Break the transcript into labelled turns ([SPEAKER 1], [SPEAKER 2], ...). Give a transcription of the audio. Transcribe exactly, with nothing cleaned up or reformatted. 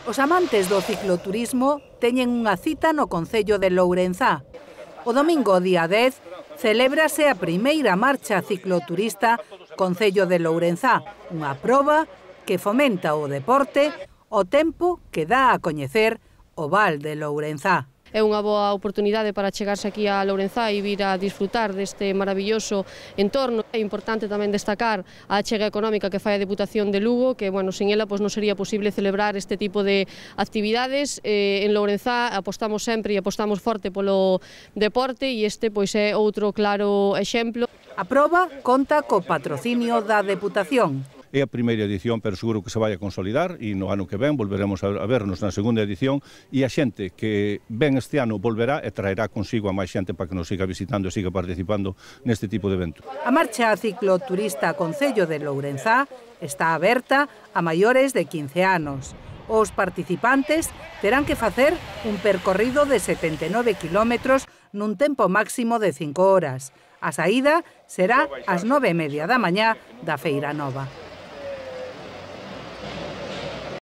[SPEAKER 1] Os amantes do cicloturismo teñen unha cita no concello de Lourenzá. O domingo, día dez, celébrase a primeira marcha cicloturista concello de Lourenzá, unha proba que fomenta o deporte ao tempo que dá a coñecer o Val de Lourenzá.
[SPEAKER 2] É unha boa oportunidade para chegarse aquí a Lourenzá e vir a disfrutar deste maravilloso entorno. É importante tamén destacar a achega económica que fai a Deputación de Lugo, que, bueno, sin ela pois non sería posible celebrar este tipo de actividades. Eh, en Lourenzá apostamos sempre e apostamos forte polo deporte e este pois é outro claro exemplo.
[SPEAKER 1] A proba conta co patrocinio da Deputación.
[SPEAKER 3] É a primeira edición, pero seguro que se vai a consolidar e no ano que ven volveremos a vernos na segunda edición e a xente que ven este ano volverá e traerá consigo a máis xente para que nos siga visitando e siga participando neste tipo de evento.
[SPEAKER 1] A marcha cicloturista Concello de Lourenzá está aberta a maiores de quince anos. Os participantes terán que facer un percorrido de setenta e nove kilómetros nun tempo máximo de cinco horas. A saída será ás nove e media da mañá da Feira Nova.